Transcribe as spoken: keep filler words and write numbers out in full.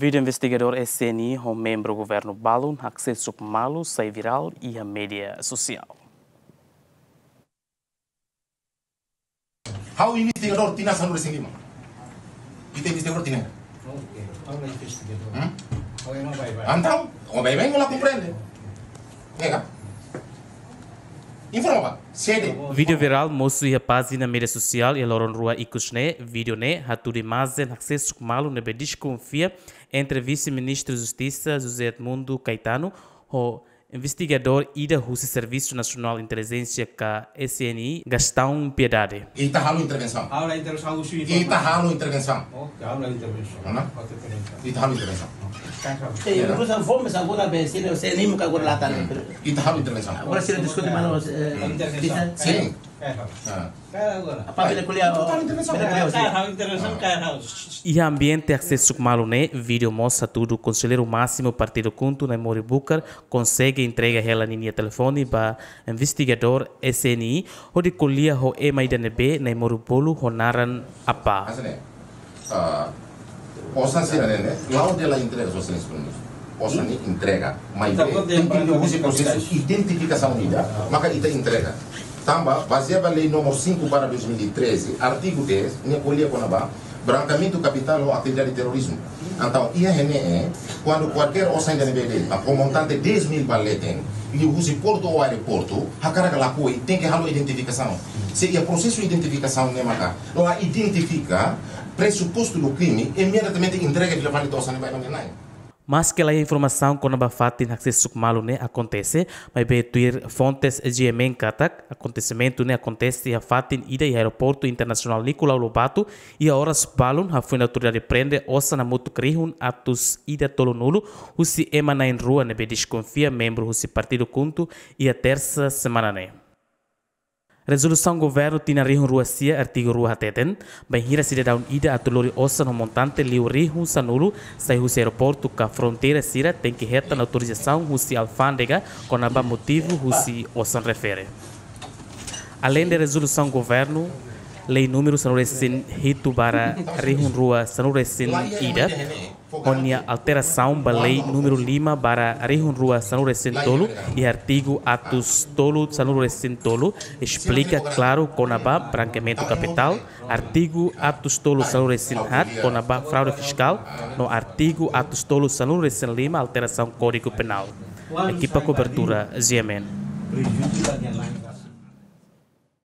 Vídeo investigadór S N I ho membru governu balun haksesuk malu sai virál iha média sosiál. Ha'u investigadór tinan sanulu-resin-lima. Ita investigadór tinan. Oke, ha'u la investigadór. Hmm? Ha'u ema baibain. Entaun, ó baibain ó la komprende. Nega. Informa ba, sede. Vídeo virál mosu iha pájina média sosiál iha loron rua ikus ne'e. Vídeo ne'e hatudu imajen haksesuk malu ne'ebé deskonfia entre Vise-Ministru Justisa José Edmundo Caetano ho investigadór ida husi Servisu Nasionál Intelijénsia ka S N I, Gastão Piedade. Ita halo intervensaun. Halo intervensaun, husu informa. Ita halo intervensaun. Oke, halo intervensaun. Mana? Oke, intervensaun. Ita halo intervensaun. Kan sabe. Eh, ya. Urusan fome sa guna be sini, se ni muka guna latan. Hmm. Ita halo intervensaun. Agora se diskute malu, eh, intervensaun. Bisa? Sin. Kan sabe. Ah. Apa bila kuliah? Ita halo intervensaun. Bila kuliah, sin. Kan halo intervensaun, kan halo. Iha ambiente haksesuk malu ne'e, vídeo mós hatudu Konselleiru Másimu Partidu KHUNTO, Naimori Bucar, konsege entrega hela ninia telefone ba investigadór S N I, hodi ko'alia ho ema ida ne'ebé Naimori bolu ho naran Apa. Hanesan ne'e, ah, osan sira-ne'e, la'ós de'it la entrega, só sira segundu. Osan ne'e entrega, maibé tenke husi prosesu identifikasaun ida, maka ita entrega. Tanba, bazeia ba lei númeru cinco barra dois mil e treze, artigu dez, nia ko'alia kona-ba brankeamentu kapitál ho atividade terrorizmu. Entaun, iha ne'e, kuandu kualkér osan ida ne'ebé de'it, ho montante dez mil ba leten, liuhusi portu ou aeroportu, hakarak ka lakohi, tenke halo identifikasaun. Se iha prosesu identifikasaun ne'e maka la identifika presupostu do krime, imediatamente entrega fila fali to'o osan ne'e ba ema nia na'in. Maske la iha informasaun kona-ba fatin haksesuk malu ne'e akontese, maibé tuir fontes G M N katak, akontesimentu ne'e akontese iha fatin ida iha Aeroportu Internasionál Nicolau Lobato, iha oras balun hafoin autoridade prende osan hamutuk rihun atus ida tolunulu husi ema na'in-rua ne'ebé deskonfia membru husi Partidu KHUNTO iha tersa semana ne'e. Rezolusaun Governu tinan rihun rua sia, artigu rua hateten, bainhira sidadaun ida atu lori osan ho montante liu rihun sanulu sai husi aeroportu ka fronteira sira tenke hetan autorizasaun husi alfándega kona-ba motivu husi osan refere. Aleinde rezolusaun Governu, lei númeru sanulu-resin-hitu barra rihun rua sanulu-resin-ida, ho nia alterasaun ba lei númeru lima barra rihun rua sanulu-resin-tolu, iha artigu atus tolu sanulu-resin-tolu, esplika klaru kona-ba brankeamentu kapitál, artigu atus tolu sanulu-resin-haat kona-ba fraude fiskál, no artigu atus tolu sanulu-resin-lima alterasaun Kódigu Penál. Ekipa kobertura G M N.